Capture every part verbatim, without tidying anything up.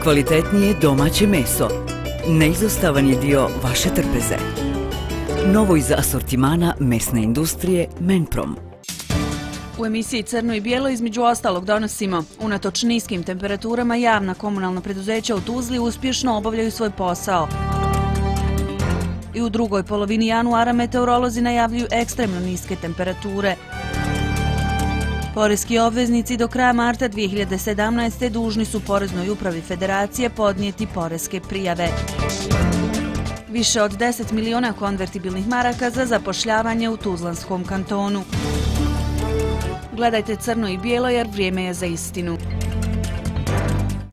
Najkvalitetnije domaće meso. Neizostavan je dio vaše trpeze. Novo iz asortimana mesne industrije Menprom. U emisiji Crno i bijelo između ostalog donosimo: unatoč niskim temperaturama javna komunalna preduzeća u Tuzli uspješno obavljaju svoj posao. I u drugoj polovini januara meteorolozi najavljuju ekstremno niske temperature. Poreski obveznici do kraja marta dvije hiljade sedamnaeste. dužni su Poreznoj upravi Federacije podnijeti poreske prijave. Više od deset miliona konvertibilnih maraka za zapošljavanje u Tuzlanskom kantonu. Gledajte Crno i bijelo jer vrijeme je za istinu.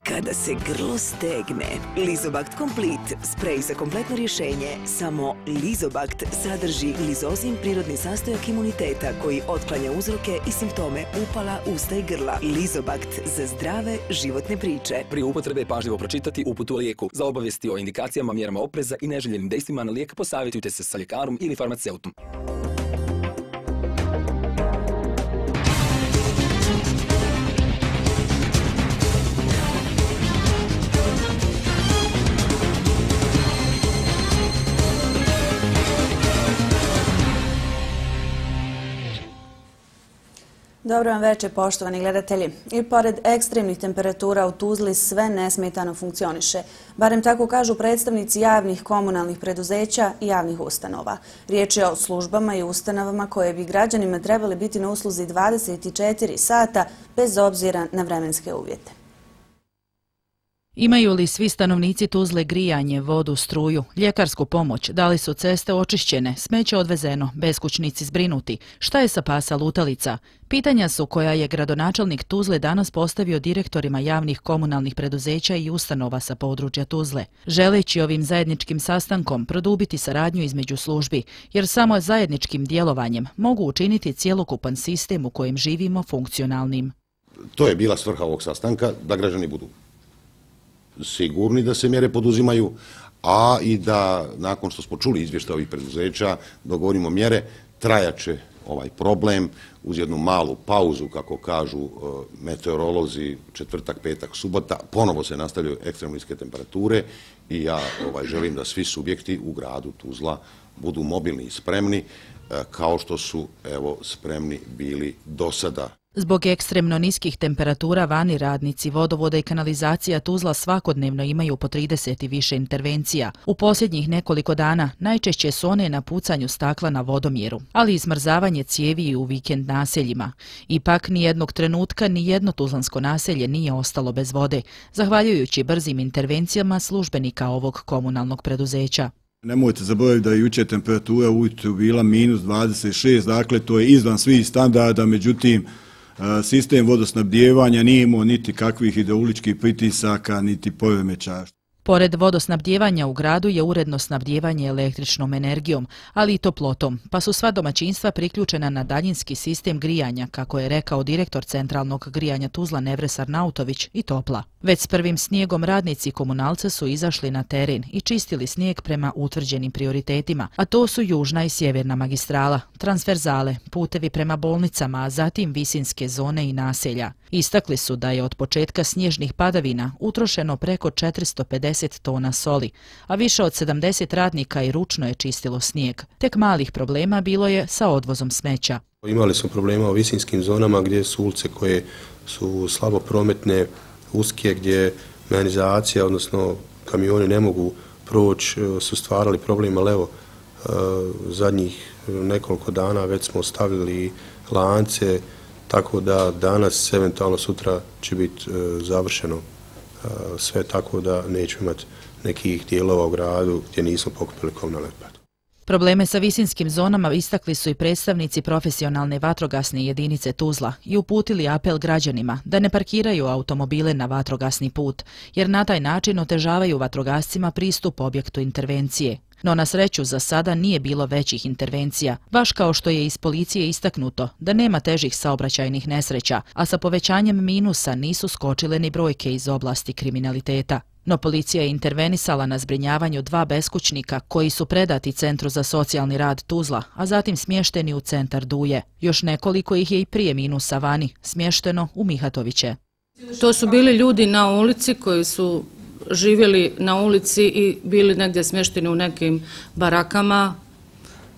Kada se grlo stegne, Lizobakt Complete, sprej za kompletno rješenje. Samo Lizobakt sadrži glizozin, prirodni sastojak imuniteta koji otklanja uzroke i simptome upala usta i grla. Lizobakt za zdrave životne priče. Prije upotrebe pažljivo pročitati uputu o lijeku. Za obavijesti o indikacijama, mjerama opreza i neželjenim dejstvima na lijek posavjetujte se sa ljekarom ili farmaceutom. Dobro vam večer, poštovani gledatelji. I pored ekstremnih temperatura u Tuzli sve nesmetano funkcioniše. Barem tako kažu predstavnici javnih komunalnih preduzeća i javnih ustanova. Riječ je o službama i ustanovama koje bi građanima trebali biti na usluzi dvadeset četiri sata bez obzira na vremenske uvjete. Imaju li svi stanovnici Tuzle grijanje, vodu, struju, ljekarsku pomoć, da li su ceste očišćene, smeće odvezeno, beskućnici zbrinuti, šta je sa pasa lutalica? Pitanja su koja je gradonačelnik Tuzle danas postavio direktorima javnih komunalnih preduzeća i ustanova sa područja Tuzle, želeći ovim zajedničkim sastankom produbiti saradnju između službi, jer samo zajedničkim djelovanjem mogu učiniti cjelokupan sistem u kojem živimo funkcionalnim. To je bila svrha ovog sastanka, da građani budu sigurni da se mjere poduzimaju, a i da nakon što smo čuli izvještaj ovih preduzeća dogovorimo mjere. Trajaće ovaj problem uz jednu malu pauzu, kako kažu meteorolozi, četvrtak, petak, subota, ponovo se nastavljaju ekstremno niske temperature i ja ovaj, želim da svi subjekti u gradu Tuzla budu mobilni i spremni, kao što su evo spremni bili do sada. Zbog ekstremno niskih temperatura vani radnici vodovoda i kanalizacija Tuzla svakodnevno imaju po trideset i više intervencija. U posljednjih nekoliko dana najčešće su one na pucanju stakla na vodomjeru, ali i smrzavanje cijevi u vikend naseljima. Ipak nijednog trenutka nijedno tuzlansko naselje nije ostalo bez vode, zahvaljujući brzim intervencijama službenika ovog komunalnog preduzeća. Nemojte zaboraviti da je jučer temperatura ujutro bila minus dvadeset šest, dakle to je izvan svih standarda, međutim sistem vodosnabdijevanja nije imao niti kakvih hidrauličkih pritisaka, niti poremećaja. Pored vodosnabdijevanja u gradu je uredno snabdijevanje električnom energijom, ali i toplotom, pa su sva domaćinstva priključena na daljinski sistem grijanja, kako je rekao direktor centralnog grijanja Tuzla Nevres Arnautović i Topla. Već s prvim snijegom radnici komunalca su izašli na teren i čistili snijeg prema utvrđenim prioritetima, a to su južna i sjeverna magistrala, transverzale, putevi prema bolnicama, a zatim visinske zone i naselja. Istakli su da je od početka snježnih padavina utrošeno preko četiristo pedeset tona soli, a više od sedamdeset radnika i ručno je čistilo snijeg. Tek malih problema bilo je sa odvozom smeća. Imali smo problema u visinskim zonama gdje su ulice koje su slabo prometne, uske, gdje mehanizacija, odnosno kamioni ne mogu proći, su stvarali problem, ali evo, zadnjih nekoliko dana već smo stavili lance, tako da danas, eventualno sutra će biti završeno sve, tako da nećemo imati nekih dijelova u gradu gdje nismo pokupili komunalni otpad. Probleme sa visinskim zonama istakli su i predstavnici profesionalne vatrogasne jedinice Tuzla i uputili apel građanima da ne parkiraju automobile na vatrogasni put, jer na taj način otežavaju vatrogascima pristup objektu intervencije. No na sreću za sada nije bilo većih intervencija, baš kao što je iz policije istaknuto da nema težih saobraćajnih nesreća, a sa povećanjem minusa nisu skočile ni brojke iz oblasti kriminaliteta. No policija je intervenisala na zbrinjavanju dva beskućnika koji su predati Centru za socijalni rad Tuzla, a zatim smješteni u centar Duje. Još nekoliko ih je i prije minusa vani, smješteno u Mihatoviće. To su bili ljudi na ulici koji su živjeli na ulici i bili negdje smješteni u nekim barakama,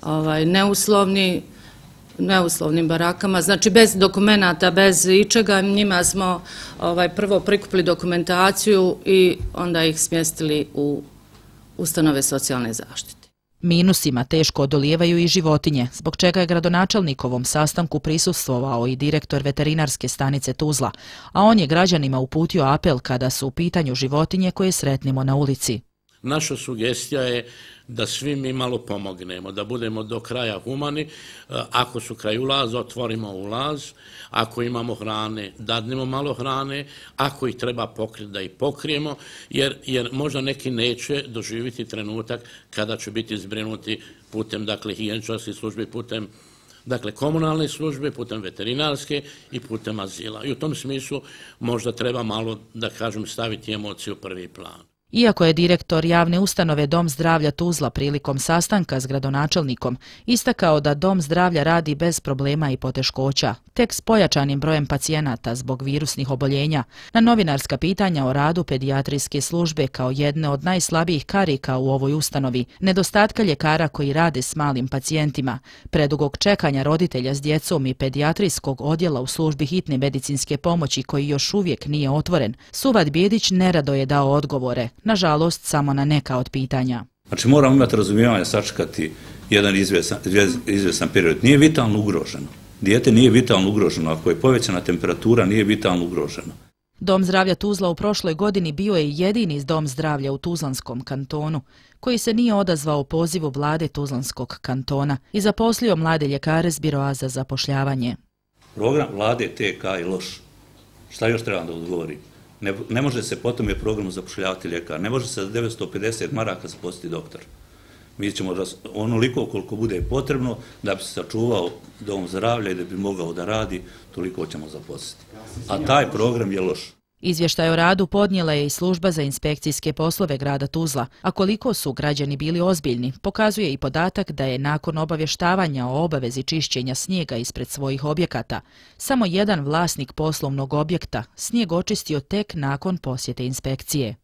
ovaj, neuslovni, neuslovnim barakama, znači bez dokumenata, bez ičega. Njima smo ovaj, prvo prikupili dokumentaciju i onda ih smjestili u ustanove socijalne zaštite. Minusima teško odolijevaju i životinje, zbog čega je gradonačelnikovom sastanku prisustvovao i direktor veterinarske stanice Tuzla, a on je građanima uputio apel kada su u pitanju životinje koje sretnimo na ulici. Naša sugestija je da svi mi malo pomognemo, da budemo do kraja humani. Ako su kraj ulaza, otvorimo ulaz. Ako imamo hrane, dadnemo malo hrane. Ako ih treba pokriti, da ih pokrijemo, jer, jer možda neki neće doživjeti trenutak kada će biti zbrinuti putem, dakle, higijeničarskih službi, putem dakle, komunalne službe, putem veterinarske i putem azila. I u tom smislu možda treba malo, da kažem, staviti emociju u prvi plan. Iako je direktor javne ustanove Dom zdravlja Tuzla prilikom sastanka s gradonačelnikom istakao da Dom zdravlja radi bez problema i poteškoća, tek s pojačanim brojem pacijenata zbog virusnih oboljenja, na novinarska pitanja o radu pedijatrijske službe kao jedne od najslabijih karika u ovoj ustanovi, nedostatka ljekara koji rade s malim pacijentima, predugog čekanja roditelja s djecom i pedijatrijskog odjela u službi hitne medicinske pomoći koji još uvijek nije otvoren, Suvad Bijedić nerado je dao odgovore, nažalost samo na neka od pitanja. Znači moramo imati razumijevanje, sačekati jedan izvjesan, izvjesan period. Nije vitalno ugroženo. Dijete nije vitalno ugroženo. Ako je povećana temperatura, nije vitalno ugroženo. Dom zdravlja Tuzla u prošloj godini bio je jedini dom zdravlja u Tuzlanskom kantonu, koji se nije odazvao pozivu vlade Tuzlanskog kantona i zaposlio mlade ljekare s biroa za zapošljavanje. Program vlade T K je loš. Šta još trebam da odgovorim? Ne, ne može se po tome programu zapošljavati ljekar, ne može se za devetsto pedeset maraka zaposliti doktor. Mi ćemo onoliko koliko bude potrebno da bi se sačuvao dom zdravlja i da bi mogao da radi, toliko ćemo zaposliti. A taj program je loš. Izvještaj o radu podnijela je i služba za inspekcijske poslove grada Tuzla, a koliko su građani bili ozbiljni, pokazuje i podatak da je nakon obavještavanja o obavezi čišćenja snijega ispred svojih objekata, samo jedan vlasnik poslovnog objekta snijeg očistio tek nakon posjete inspekcije.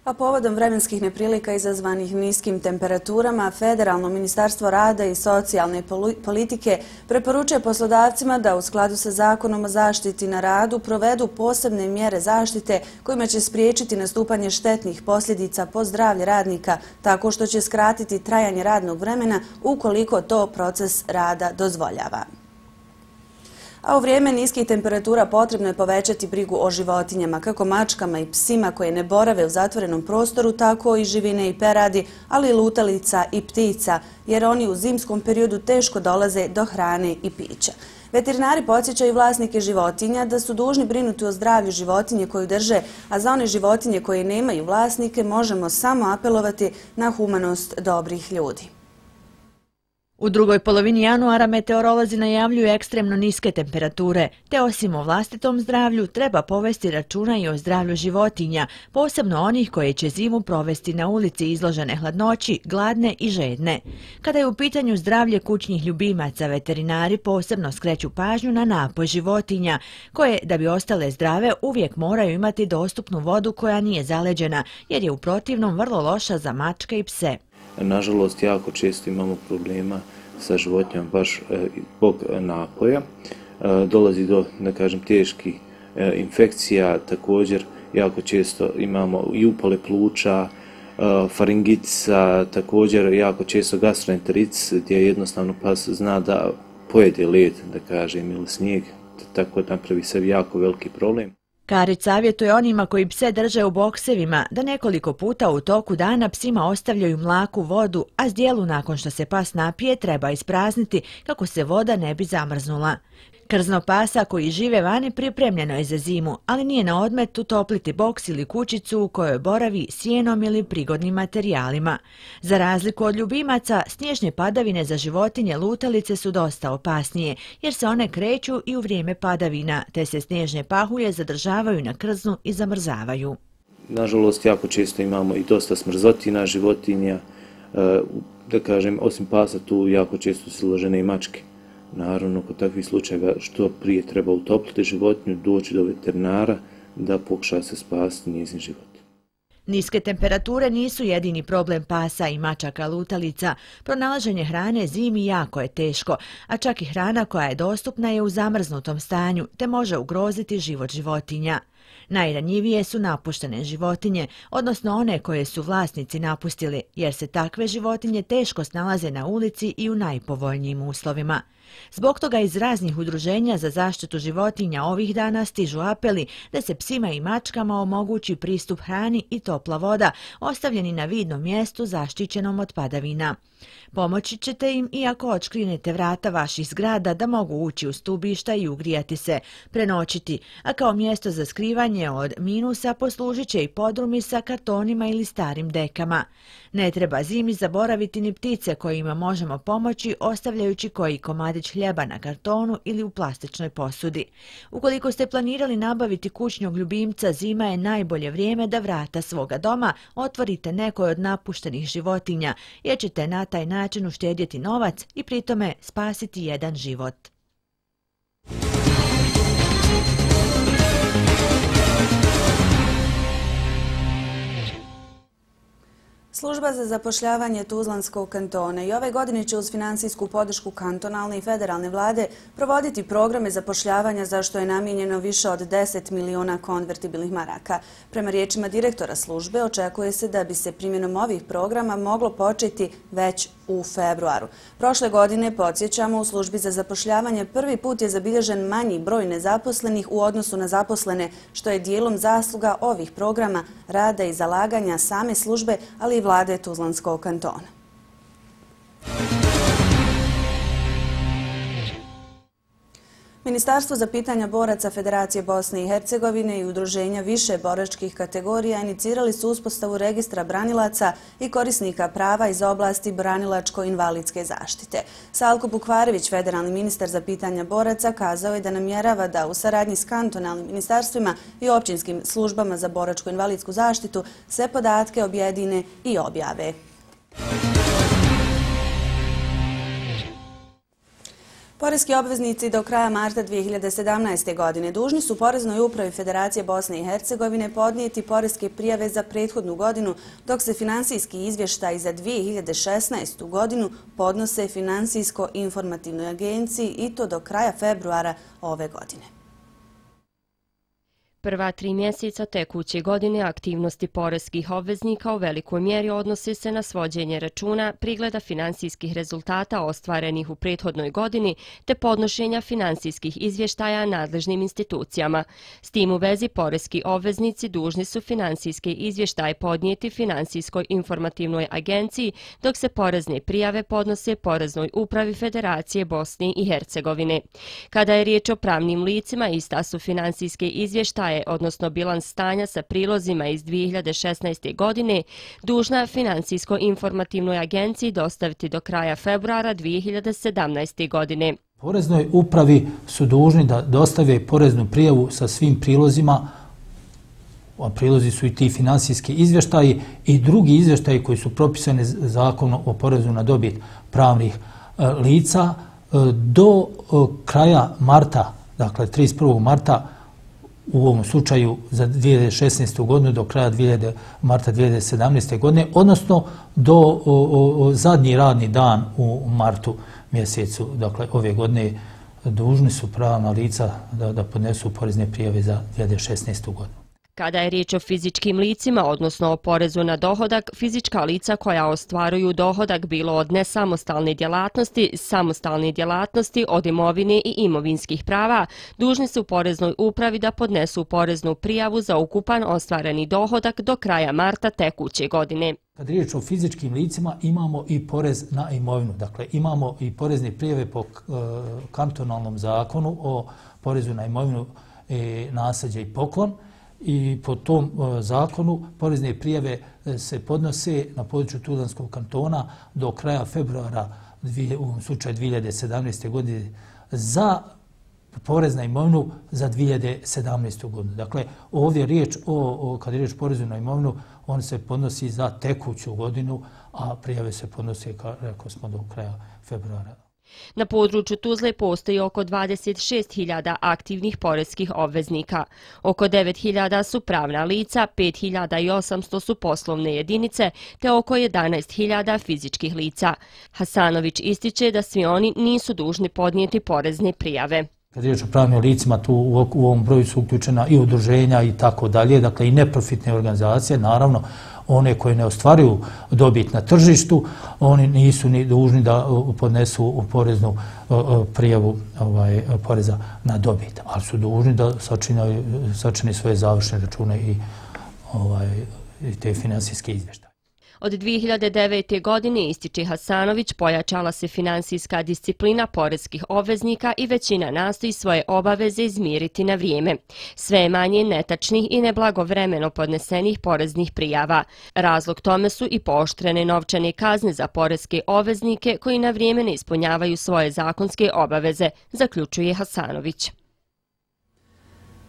A povodom vremenskih neprilika izazvanih niskim temperaturama, Federalno ministarstvo rada i socijalne politike preporučuje poslodavcima da u skladu sa Zakonom o zaštiti na radu provedu posebne mjere zaštite kojima će spriječiti nastupanje štetnih posljedica po zdravlje radnika tako što će skratiti trajanje radnog vremena ukoliko to proces rada dozvoljava. A u vrijeme niskih temperatura potrebno je povećati brigu o životinjama, kako mačkama i psima koje ne borave u zatvorenom prostoru, tako i živine i peradi, ali i lutalica i ptica, jer oni u zimskom periodu teško dolaze do hrane i pića. Veterinari podsjećaju vlasnike životinja da su dužni brinuti o zdravlju životinje koju drže, a za one životinje koje nemaju vlasnike možemo samo apelovati na humanost dobrih ljudi. U drugoj polovini januara meteorolozi najavljuju ekstremno niske temperature, te osim o vlastitom zdravlju treba povesti računa i o zdravlju životinja, posebno onih koje će zimu provesti na ulici izložene hladnoći, gladne i žedne. Kada je u pitanju zdravlje kućnih ljubimaca, veterinari posebno skreću pažnju na napoj životinja, koje, da bi ostale zdrave, uvijek moraju imati dostupnu vodu koja nije zaleđena, jer je u protivnom vrlo loša za mačke i pse. Nažalost, jako često imamo problema sa životinjama baš zbog napoja. Dolazi do, da kažem, teških infekcija, također jako često imamo i upale pluća, faringitica, također jako često gastroenteritis, gdje jednostavno pas zna da pojede led, da kažem, ili snijeg, tako da napravi sebi jako veliki problem. Karić savjetuje onima koji pse drže u boksevima da nekoliko puta u toku dana psima ostavljaju mlaku vodu, a zdjelu nakon što se pas napije treba isprazniti kako se voda ne bi zamrznula. Krzno pasa koji žive vani pripremljeno je za zimu, ali nije na odmet utopliti boks ili kućicu u kojoj boravi sjenom ili prigodnim materijalima. Za razliku od ljubimaca, snježne padavine za životinje lutalice su dosta opasnije, jer se one kreću i u vrijeme padavina, te se snježne pahulje zadržavaju na krznu i zamrzavaju. Nažalost, jako često imamo i dosta smrzotina životinja, da kažem, osim pasa tu jako često su izložene i mačke. Naravno, kod takvih slučajeva što prije treba utopliti životinju, doći do veterinara, da pokuša se spasiti njezin život. Niske temperature nisu jedini problem pasa i mačaka lutalica. Pronalaženje hrane zimi jako je teško, a čak i hrana koja je dostupna je u zamrznutom stanju, te može ugroziti život životinja. Najranjivije su napuštene životinje, odnosno one koje su vlasnici napustili, jer se takve životinje teško snalaze na ulici i u najpovoljnijim uslovima. Zbog toga iz raznih udruženja za zaštitu životinja ovih dana stižu apeli da se psima i mačkama omogući pristup hrani i topla voda, ostavljeni na vidnom mjestu zaštićenom od padavina. Pomoći ćete im i ako odškrinete vrata vaših zgrada da mogu ući u stubišta i ugrijati se, prenoćiti, a kao mjesto za skrivanje od minusa poslužit će i podrumi sa kartonima ili starim dekama. Ne treba zimi zaboraviti ni ptice kojima možemo pomoći ostavljajući koji komadić hljeba na kartonu ili u plastičnoj posudi. Ukoliko ste planirali nabaviti kućnog ljubimca, zima je najbolje vrijeme da vrata svoga doma otvorite nekoj od napuštenih životinja, jer ćete na taj način uštedjeti novac i pritome spasiti jedan život. Služba za zapošljavanje Tuzlanskog kantona i ove godine će uz financijsku podršku kantonalne i federalne vlade provoditi programe zapošljavanja za što je namijenjeno više od deset miliona konvertibilnih maraka. Prema riječima direktora službe, očekuje se da bi se primjenom ovih programa moglo početi već u februaru. Prošle godine, podsjećamo, u službi za zapošljavanje prvi put je zabilježen manji broj nezaposlenih u odnosu na zaposlene, što je dijelom zasluga ovih programa, rada i zalaganja same službe, ali i vlade Tuzlanskog kantona. Ministarstvo za pitanja boraca Federacije Bosne i Hercegovine i udruženja više boračkih kategorija inicirali su uspostavu registra branilaca i korisnika prava iz oblasti branilačko-invalidske zaštite. Salko Bukvarević, federalni ministar za pitanja boraca, kazao je da namjerava da u saradnji s kantonalnim ministarstvima i općinskim službama za boračko-invalidsku zaštitu sve podatke objedine i objave. Poreski obveznici do kraja marta dvije hiljade sedamnaeste. godine dužni su Poreznoj upravi Federacije Bosne i Hercegovine podnijeti poreske prijave za prethodnu godinu, dok se finansijski izvještaj za dvije hiljade šesnaestu. godinu podnose Finansijsko-informativnoj agenciji i to do kraja februara ove godine. Prva tri mjeseca tekuće godine aktivnosti poreskih obveznika u velikoj mjeri odnose se na svođenje računa, prigleda finansijskih rezultata ostvarenih u prethodnoj godini te podnošenja finansijskih izvještaja nadležnim institucijama. S tim u vezi poreski obveznici dužni su finansijske izvještaje podnijeti Finansijskoj informativnoj agenciji, dok se porezne prijave podnose Poreznoj upravi Federacije Bosne i Hercegovine. Kada je riječ o pravnim licima, ista su finansijske izvještaje, odnosno bilans stanja sa prilozima iz dvije hiljade šesnaeste. godine, dužna Finansijsko-informativnoj agenciji dostaviti do kraja februara dvije hiljade sedamnaeste. godine. Poreznoj upravi su dužni da dostave poreznu prijavu sa svim prilozima, a prilozi su i ti finansijski izvještaji i drugi izvještaji koji su propisani zakonom o porezu na dobit pravnih lica do kraja marta, dakle trideset prvog marta, u ovom slučaju za dvije hiljade šesnaestu. godinu do kraja marta dvije hiljade sedamnaeste. godine, odnosno do o, o, zadnji radni dan u martu mjesecu, dakle ove godine, dužni su pravna lica da, da podnesu porezne prijave za dvije hiljade šesnaestu. godinu. Kada je riječ o fizičkim licima, odnosno o porezu na dohodak, fizička lica koja ostvaruju dohodak bilo od nesamostalne djelatnosti, samostalne djelatnosti, od imovine i imovinskih prava, dužni su Poreznoj upravi da podnesu poreznu prijavu za ukupan ostvareni dohodak do kraja marta tekuće godine. Kad je riječ o fizičkim licima, imamo i porez na imovinu. Dakle, imamo i porezne prijave po uh, kantonalnom zakonu o porezu na imovinu, e, nasljeđe i poklon. I po tom uh, zakonu porezne prijave uh, se podnose na području Tuzlanskog kantona do kraja februara, dvije, u ovom slučaju dvije hiljade sedamnaeste. godine, za porez na imovinu za dvije hiljade sedamnaestu. godinu. Dakle, ovdje je riječ o, o, kad je riječ o porezu na imovinu, on se podnosi za tekuću godinu, a prijave se podnose, kao rekao smo, do kraja februara. Na području Tuzle postoji oko dvadeset šest hiljada aktivnih poreskih obveznika. Oko devet hiljada su pravna lica, pet hiljada osamsto su poslovne jedinice, te oko jedanaest hiljada fizičkih lica. Hasanović ističe da svi oni nisu dužni podnijeti porezne prijave. Kad je riječ o pravnim licima, tu u ovom broju su uključena i udruženja i tako dalje, dakle i neprofitne organizacije, naravno one koje ne ostvaruju dobit na tržištu, oni nisu ni dužni da podnesu poreznu prijavu ovaj, poreza na dobit, ali su dužni da sačine svoje završne račune i, ovaj, i te finansijske izvještaje. Od dvije hiljade devete. godine, ističe Hasanović, pojačala se finansijska disciplina poreskih obveznika i većina nastoji svoje obaveze izmiriti na vrijeme. Sve je manje netačnih i neblagovremeno podnesenih poreznih prijava. Razlog tome su i pooštrene novčane kazne za poreske obveznike koji na vrijeme ne ispunjavaju svoje zakonske obaveze, zaključuje Hasanović.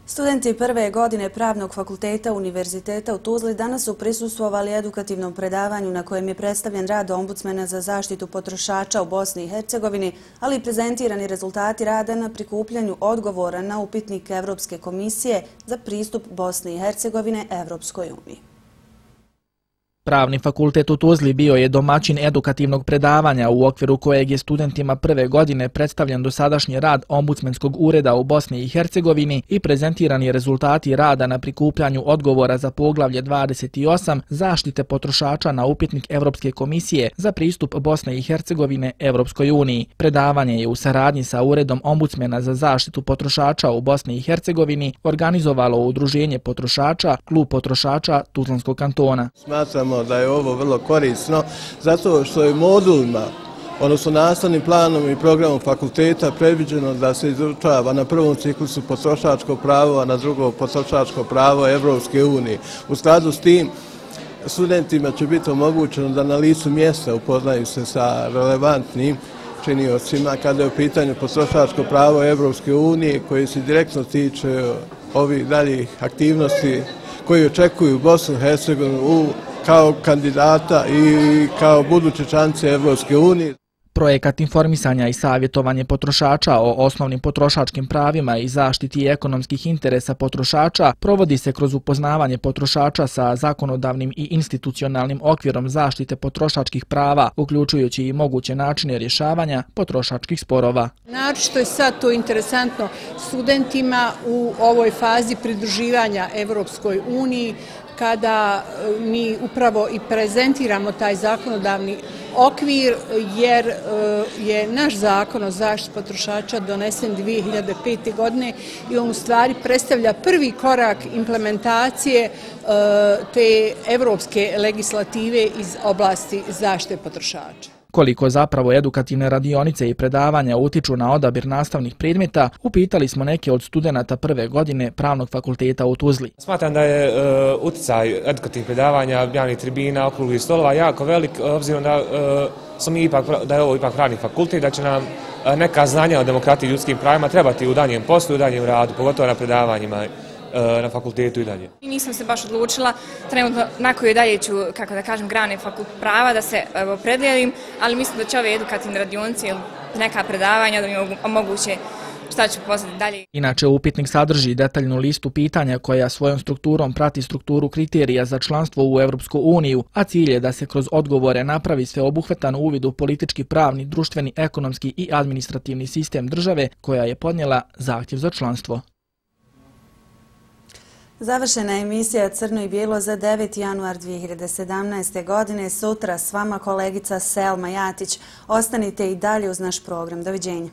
Studenti prve godine Pravnog fakulteta Univerziteta u Tuzli danas su prisustvovali edukativnom predavanju na kojem je predstavljen rad ombudsmena za zaštitu potrošača u Bosni i Hercegovini, ali i prezentirani rezultati rada na prikupljanju odgovora na upitnik Evropske komisije za pristup Bosne i Hercegovine Evropskoj uniji. Pravni fakultet u Tuzli bio je domaćin edukativnog predavanja u okviru kojeg je studentima prve godine predstavljen dosadašnji rad ombudsmenskog ureda u Bosni i Hercegovini i prezentirani rezultati rada na prikupljanju odgovora za poglavlje dvadeset osam zaštite potrošača na upitnik Evropske komisije za pristup Bosne i Hercegovine Evropskoj uniji. Predavanje je u saradnji sa Uredom ombudsmena za zaštitu potrošača u Bosni i Hercegovini organizovalo Udruženje potrošača, Klub potrošača Tuzlanskog kantona. Smatramo da je ovo vrlo korisno, zato što je modulima, odnosno nastavnim planom i programom fakulteta predviđeno da se izučava na prvom ciklusu potrošačko pravo, a na drugom potrošačko pravo Evropske unije. U skladu s tim, studentima će biti omogućeno da na licu mjesta upoznaju se sa relevantnim činiocima kada je u pitanju potrošačko pravo Evropske unije koje se direktno tiče ovih daljih aktivnosti koji očekuju Bosnu i Hercegovinu kao kandidata i kao buduće članice Evropske unije. Projekat informisanja i savjetovanje potrošača o osnovnim potrošačkim pravima i zaštiti ekonomskih interesa potrošača provodi se kroz upoznavanje potrošača sa zakonodavnim i institucionalnim okvirom zaštite potrošačkih prava, uključujući i moguće načine rješavanja potrošačkih sporova. Naročito je sad to interesantno studentima u ovoj fazi pridruživanja Evropskoj uniji, kada mi upravo i prezentiramo taj zakonodavni okvir, jer je naš zakon o zaštiti potrošača donesen dvije hiljade pete. godine i on u stvari predstavlja prvi korak implementacije te evropske legislative iz oblasti zaštite potrošača. Koliko zapravo edukativne radionice i predavanja utiču na odabir nastavnih predmeta, upitali smo neke od studenata prve godine Pravnog fakulteta u Tuzli. Smatram da je uh, uticaj edukativnih predavanja, javnih tribina, okruglih stolova jako velik, obzirom da, uh, smo ipak, da je ovo ipak pravni fakultet, da će nam uh, neka znanja o demokratiji i ljudskim pravima trebati u danjem poslu i u danjem radu, pogotovo na predavanjima na fakultetu i dalje. Nisam se baš odlučila trenutno na koju dalje ću, kako da kažem, grane prava da se opredelim, ali mislim da će ove edukativne radionice ili neka predavanja da mi omoguće šta ću poznati dalje. Inače, upitnik sadrži detaljnu listu pitanja koja svojom strukturom prati strukturu kriterija za članstvo u Evropsku uniju, a cilj je da se kroz odgovore napravi sveobuhvatan uvid u politički, pravni, društveni, ekonomski i administrativni sistem države koja je podnijela zahtjev za članstvo. Završena je emisija Crno i bijelo za deveti januar dvije hiljade sedamnaeste. godine. Sutra s vama kolegica Selma Jatić. Ostanite i dalje uz naš program. Doviđenja.